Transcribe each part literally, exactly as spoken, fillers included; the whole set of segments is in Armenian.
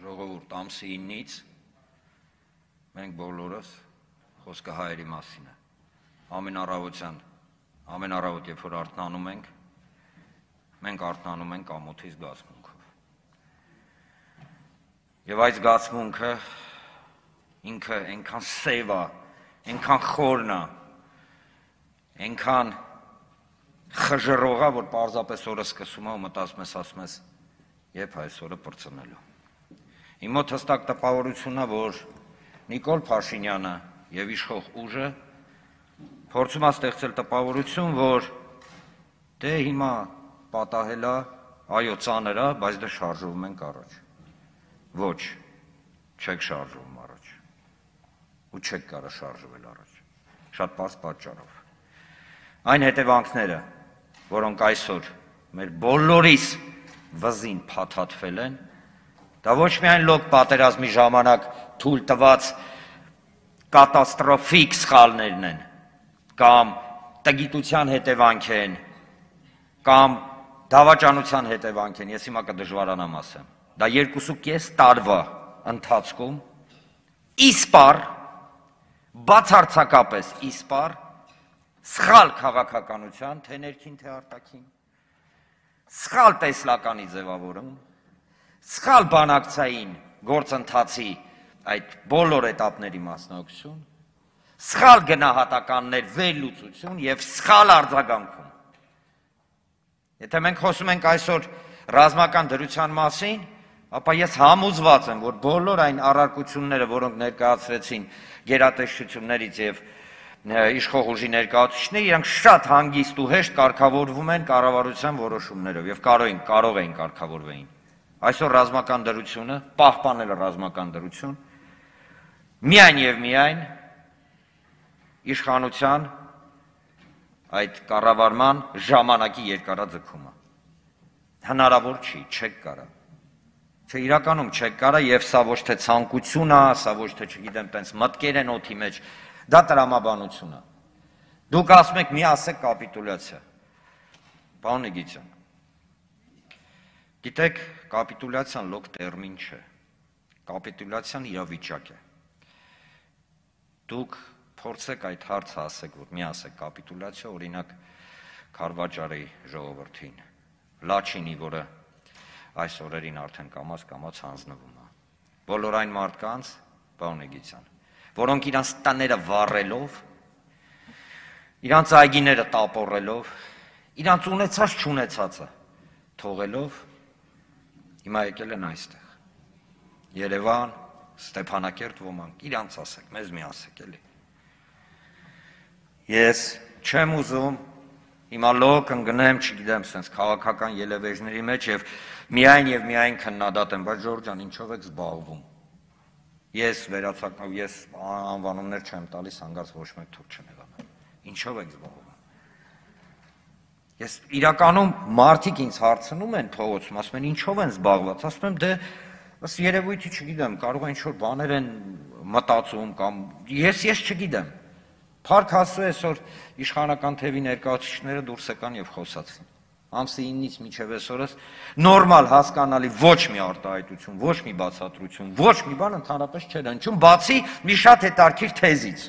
ժողովուրդ ամսի իննից մենք բոլորս խոսքը հայերի մասին է։ Ամեն առավոտյան, ամեն առավոտ, երբ որ արթնանում ենք, մենք արթնանում ենք ամոթի զգացմունքով։ Եվ այդ զգացմունքը ինքը այնքան սև է, այնքան խորն է, այնքան խժռող է, որ պարզապես օրը սկսում է ու մտածում ես, ասում ես, երբ այս օրը պրծնելու։ Իմ մոտ հստակ տպավորություն է, որ Նիկոլ Փաշինյանը եւ իշխող ուժը փորձում է ստեղծել տպավորություն, որ դե հիմա պատահել է, այո, ծանր է, բայց դե շարժվում ենք առաջ։ Ոչ, չեք շարժվում առաջ։ Ու չեք կարող շարժվել առաջ։ Շատ պարզ պատճառով։ Այն հետևանքները, որոնք այսօր մեր բոլորիս վզին փաթաթվել են, դա ոչ միայն լոկ պատերազմի ժամանակ թույլ տված կատաստրոֆիկ սխալներն են, կամ տգիտության հետևանք են, կամ դավաճանության հետևանք են, ես հիմա կդժվարանամ ասեմ։ Դա երկուսուկես տարվա ընթացքում իսպար, բացարձակապես իսպար, սխալ քաղաքականության, թե ներքին, թե արտաքին, սխալ տեսլականի ձևավորում, սխալ բանակցային գործընթացի այդ բոլոր էտապների մասնակցություն, սխալ գնահատականներ վերլուծություն եւ սխալ արձագանքում։ Եթե մենք խոսում ենք այսօր ռազմական դրության մասին, ապա ես համոզված եմ, որ բոլոր այն առարկությունները, որոնք ներկայացրեցին գերատեսչություններից եւ իշխող ուժի ներկայացուցիչները, իրանք շատ հանգիստ ու հեշտ կարգավորվում են կառավարության որոշումներով եւ կարող են կարող են կարգավորվեին։ Այսօր ռազմական դրությունը, պահպանել ռազմական դրություն, միայն եւ միայն իշխանության այդ կառավարման ժամանակի երկարաձգումը։ Հնարավոր չի, չեք կարող։ Չէ, իրականում չեք կարող եւ սա ոչ թե ցանկություն է, սա ոչ թե, չգիտեմ, տենց մտքեր են օդի մեջ, դա տրամաբանություն է։ Դուք ասում եք մի ասեք կապիտուլյացիա։ Պարոն Նիգիցյան, գիտեք, կապիտուլյացիան լոկ տերմին չէ, կապիտուլյացիան իրավիճակ է։ Դուք փորձեք այդ հարցը ասեք, որ մի ասեք կապիտուլյացիա, օրինակ Քարվաճարի ժողովրդին, Լաչինի, որը այս օրերին արդեն կամաց կամաց հանձնվում է։ Բոլոր այն մարդկանց, պարոն Նիգիցյան, որոնք իրանց տները վառելով, իրանց այգիները տապորելով, իրանց ունեցած չունեցածը թողելով, հիմա եկել են այստեղ։ Երևան, Ստեփանակերտ ոմանք, իրանց ասեք, մեզ մի ասեք, էլի։ Ես չեմ ուզում հիմա լոկ ընկնեմ, չգիտեմ, սենց քաղաքական ելևեժների մեջ եւ միայն եւ միայն քննադատեմ, բայց Ժորժ ջան, ինչով եք զբաղվում։ Ես վերացակնով, ես անվանումներ չեմ տալիս, հանգարց ոչ մեկ թող չնեղանա։ Ինչով եք զբաղվում։ Ես իրականում մարդիկ ինձ հարցնում են փողոցում, ասում են ինչով են զբաղված, ասում եմ դե ըստ երևույթի չգիտեմ, կարող է ինչ-որ բաներ են մտածում կամ ես ես չգիտեմ։ Փառք Աստծո այսօր իշխանական թևի ներկայացուցիչները դուրս եկան եւ խոսացին։ Ամսի իննից մինչև այսօրս նորմալ հասկանալի ոչ մի արտահայտություն, ոչ մի բացատրություն, ոչ մի բան ընդհանրապես չէր հնչում, բացի մի շատ հետաքրքիր թեզից։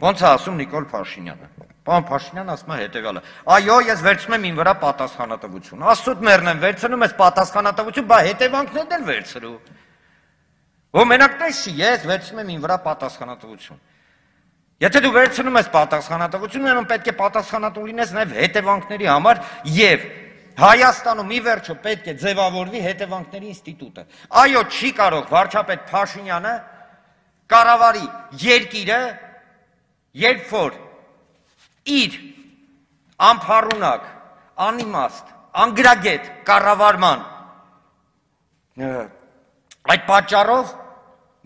Ոնց է ասում Նիկոլ Փաշինյանը։ Պարոն Փաշինյանը ասում է հետեւյալը. այո, ես վերցնում եմ ին վրա պատասխանատվություն։ Աստծուց մեռնեմ, վերցնում ես պատասխանատվություն, բա հետևանքներն էլ վերցրու։ Ո մենակ տես չի, ես վերցնում եմ ին վրա պատասխանատվություն։ Եթե դու վերցնում ես պատասխանատվություն, ուրեմն պետք է պատասխանատու լինես նաև հետևանքների համար եւ Հայաստանում ի վերջո պետք է ձևավորվի հետևանքների ինստիտուտը։ Այո, չի կարող վարչապետ Փաշինյանը կառավարի երկիրը, երբ որ իր անփառունակ, անիմաստ, անգրագետ կառավարման այդ պատճառով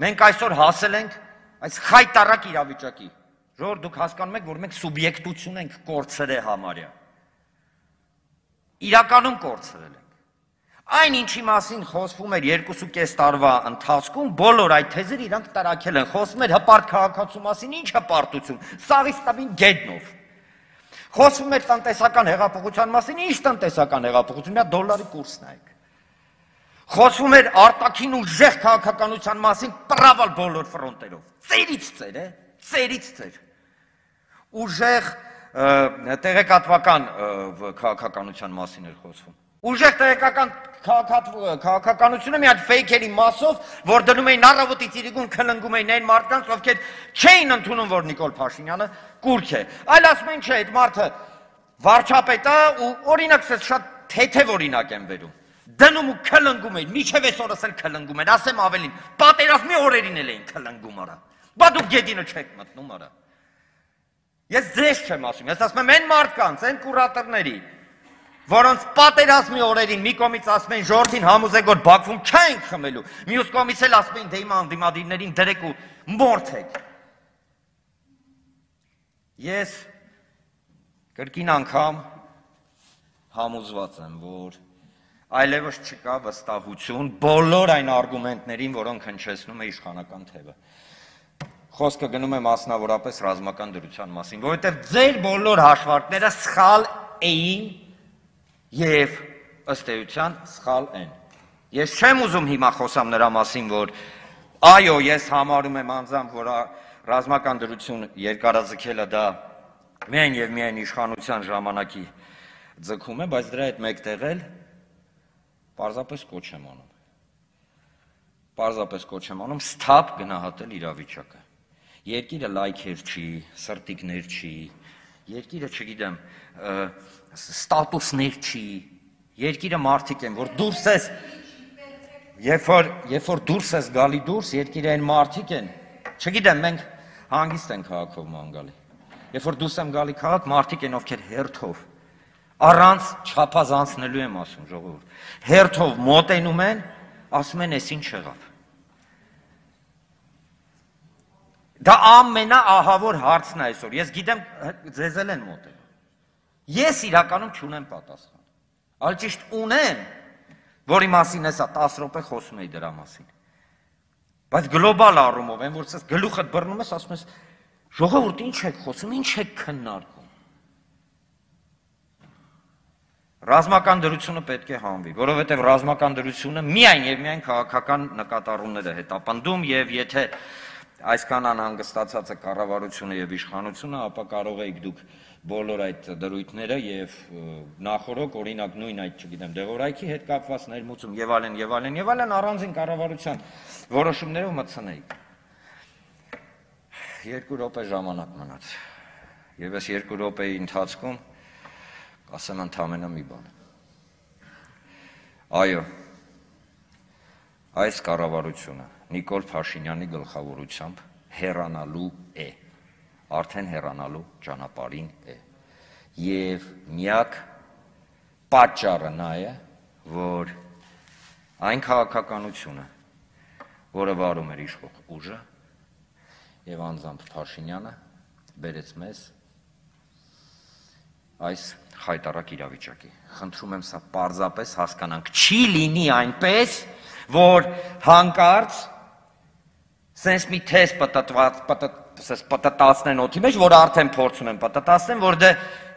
մենք այսօր հասել ենք այս խայտարակ իրավիճակի։ Ժողովուրդ, դուք հասկանում եք, որ մենք սուբյեկտություն ենք կորցրել համարյա։ Իրականում կորցրել ենք։ Այն ինչի մասին խոսվում էր երկուսուկես տարվա ընթացքում, բոլոր այդ թեզերը իրանք տարակել են։ Խոսվում էր հպարտ քաղաքացու մասին, ինչ հպարտություն, սաղից տավին գետնով։ Խոսվում էր տնտեսական հեղափոխության մասին, ինչ տնտեսական հեղափոխություն, մի հատ դոլարի կուրս նայեք։ Խոսվում էր արտաքին ուժեղ քաղաքականության մասին պրավալ բոլոր ֆրոնտերով։ Ծերից ծեր, է, ծերից ծեր։ Ուժեղ տեղեկատվական քաղաքականության մասին էր խոսվում։ Ուժեղ տեղեկական քաղաքականությունը մի հատ ֆեյքերի մասով, որ դնում էին առավոտից իրիկուն քլնգում էին այն մարդկանց, ովքեր չէին ընդունում, որ Նիկոլ Փաշինյանը կուրք է։ Այլ ասում են, չէ, այդ մարդը վարչապետ է ու օրինակ ես շատ թեթև օրինակ եմ բերում։ Դնում ու քլնգում էին, միջև այսօրս էլ քլնգում են, ասեմ ավելին, պատերազմի օրերին էլ էին քլնգում արա։ Բա դուք գետինը չեք մտնում արա։ Ես ձեզ չեմ ասում, ես ասում եմ այն մարդկանց, այն կուրատորների, որոնց պատերազմի օրերին մի կողմից ասում են ժողովրդին համոզեք, որ Բաքվում չենք խմելու, մյուս կողմից էլ ասում են դե հիմա անդիմադիրներին դրեք ու մորթեք։ Ես կրկին անգամ համոզված եմ, որ այլևս չկա վստահություն բոլոր այն արգումենտներին, որոնք հնչեցնում է իշխանական թևը։ Խոսքը գնում է մասնավորապես ռազմական դրության մասին, որովհետև ձեր բոլոր հաշվարկները սխալ էին և ըստ էության սխալ են։ Ես չեմ ուզում հիմա խոսամ նրա մասին, որ այո, ես համարում եմ անձամբ, որ ռազմական դրություն երկարաձգելը դա միայն և միայն իշխանության ժամանակի ձգում է, բայց դրա հետ մեկտեղ էլ պարզապես կոչ եմ անում։ Պարզապես կոչ եմ անում սթափ գնահատել իրավիճակը։ Երկիրը լայքեր չի, սրտիկներ չի, երկիրը, չգիտեմ, ստատուսներ չի, երկիրը մարդիկ են, որ դուրս ես, երբ որ դուրս ես գալի դուրս, երկիրը այն մարդիկ են, չգիտեմ, մենք հանգիստ են քաղաքով ման գալի, երբ որ դուրս եմ գալի քաղաք, մարդիկ են, ովքեր հերթով, առանց չափազանցնելու եմ ասում, ժողովուրդ, հերթով մոտենում են, ասում են, ես ինչ եղավ։ Դա ամենաահավոր հարցն է այսօր, ես գիտեմ, ձեզ էլ են մոտենում։ Ես իրականում չունեմ պատասխան, այլ ճիշտ ունեմ, որի մասին հեսա տասը րոպե խոսում էի դրա մասին։ Բայց գլոբալ առումով են, որ ես գլուխդ բռնում ես, ասում ես, ժողովուրդ ինչ եք խոսում, ինչ եք քննարկում։ Ռազմական դրությունը պետք է հանվի, որովհետև ռազմական դրությունը միայն և միայն քաղաքական նկատառումներ է հետապնդում և եթե այսքան անհանգստացած է կառավարությունը և իշխանությունը, ապա կարող եք դուք բոլոր այդ դրույթները և նախորոք, օրինակ նույն այդ, չգիտեմ, դեղորայքի հետ կապված ներմուծում և այլն և այլն և այլն առանձին կառավարության որոշումներով մտցնեիք։ Երկու րոպե ժամանակ մնաց և այս երկու րոպեի ընթացքում ասեմ ընդամենը մի բան։ Այո, այս կառավարությունը Նիկոլ Փաշինյանի գլխավորությամբ հեռանալու է, արդեն հեռանալու ճանապարհին է։ Եվ միակ պատճառը նա է, որ այն քաղաքականությունը, որը վարում էր իշխող ուժը և անձամբ Փաշինյանը, բերեց մեզ այս խայտառակ իրավիճակի։ Խնդրում եմ սա պարզապես հասկանանք, չի լինի այնպես, որ հանկարծ սենց մի թես պտտացնեն օդի մեջ, որ արդեն փորձում են պտտացնեն, որ դե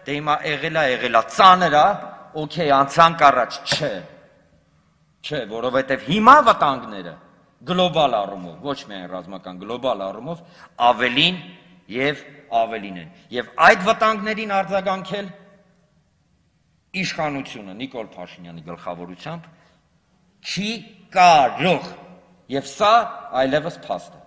հիմա եղել է, եղել է, ծանր է, օքեյ, անցանք առաջ, չէ, չէ, որովհետև հիմա վտանգները գլոբալ առումով, ոչ միայն ռազմական գլոբալ առումով, ավելին և ավելին են։ Եվ այդ վտանգներին արձագանքել իշխանությունը Նիկոլ Փաշինյանի գլխավորությամբ չի կարող, և սա այլևս փաստ է։